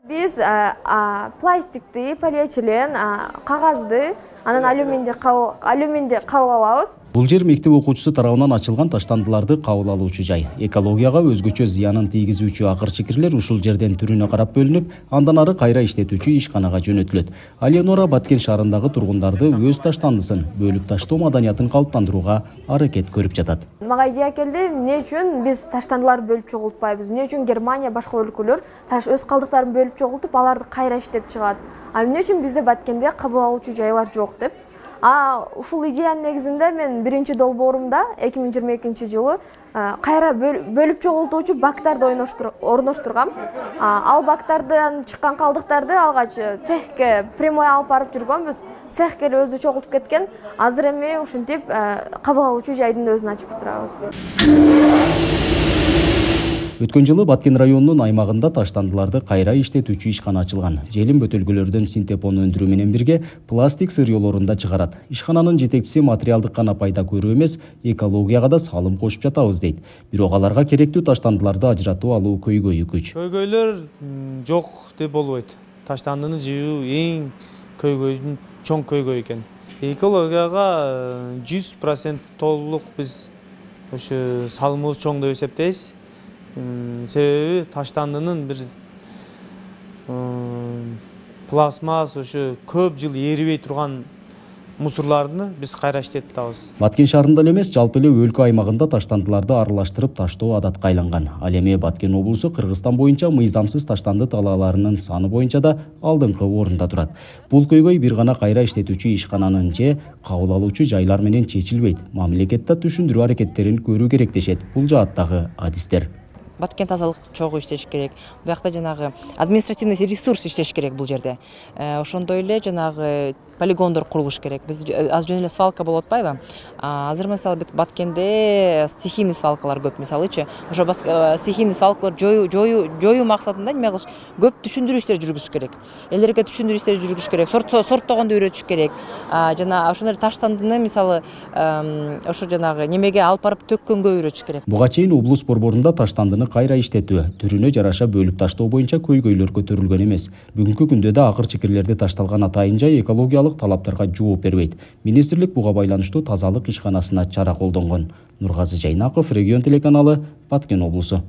Биз пластикти, полиэтилен, кагазды, анан алюминди кабыл алабыз. Бул жер мектеп окуучусу тарабынан ачылган таштандыларды кабыл алуучу жай. Экологияга өзгөчө зыянын тийгизүүчү акыр-чикирлер ушул жерден түрүнө карап бөлүнүп, андан ары кайра иштетүүчү ишканага жөнөтүлөт. Алиенора Баткен шаарындагы тургундарды өз таштандысын бөлүп таштоо маданиятын калыптандырууга аракет көрүп жатат. Мага идея келди, эмне үчүн биз таштандыларды бөлүп чогултпайбыз? Эмне үчүн Германия, башка өлкөлөр өз калдыктарын бөлүп чогултуп, аларды кайра иштеп чыгат? Эмне үчүн бизде Баткенде кабыл алуучу жайлар жок деп? Ушул идеянын негизинде мен биринчи долбоорумда 2022 жылы кайра бөлүп чогултуучу бактарды орноштургам. Ал бактардан чыккан калдыктарды алгач цехке прямой алып барып жүргөнбүз. Цехке эле өзү чогултуп кеткен. Азыр эми ушинтип кабыл алуучу жайдын өзүн ачып турабыз. Өткөн жылы Баткен районунун аймагында таштандыларды кайра иштетүүчү ишкана ачылган. Желим бөтөлкөлөрдөн синтепону өндүрүү менен бирге пластик сырьёолорун да чыгарат. Ишкананын жетекчиси материалдык гана пайда көрүү эмес, экологияга да салым кошуп жатабыз дейт. Бирок аларга керектүү таштандыларды ажыратып алуу көйгөйү күч. Көйгөйлөр жок деп болбойт. Таштандыны жыйуу эң көйгөйдүн чоң көйгөй экен. Экологияга 100% толук биз ушу салымыбыз чоң деп эсептейбиз. Себеби таштандынын бир пластмасс ушу көп жыл эрибей турган мусорларды биз кайра иштетип атабыз. Баткен шаарында эле эмес, жалпы эле өлкө аймагында таштандыларды аралаштырып таштоо адатка айланган. Ал эми Баткен облусу Кыргызстан боюнча мыйзамсыз таштанды талааларынын саны боюнча да алдыңкы орунда турат. Бул көйгөй бир гана кайра иштетүүчү ишкананын же кабыл алуучу жайлар менен чечилбейт. Мамлекет да түшүндүрүү аракеттерин көрүү керек дешет бул жааттагы адистер. Баткен тазалык чогуу иштеш керек. Буякта жанагы административный ресурс иштеш керек бул жерде. Ошондой эле жанагы полигондор курулуш керек. Биз аз жөн эле свалка болуп атпайбы? Азыр мисалы Баткенде стихийный свалкалар көп мисалычы. Ошо стихийный свалкалар жоюу максатында неме кылыш, көп түшүндүрүү иштери жүргүзүш керек. Элдерге түшүндүрүү иштери жүргүзүш керек. Сорттогонду үйрөтүш керек. Жана ошондой таштандыны мисалы ошо жанагы немеге алып барып төккөнгө үйрөтүш керек. Буга чейин облус борборунда таштандыны кайра иштетүү, түрүнө жараша бөлүп таштоо боюнча көйгөйлөр көтөрүлгөн эмес. Бүгүнкү күндө да акыр-чикирлерди ташталган атайын жай экологиялык талаптарга жооп бербейт. Министрлик буга байланыштуу тазалык ишканасына чара колдонгон. Нургазы Жайнаков, Регион телеканалы, Баткен облусу.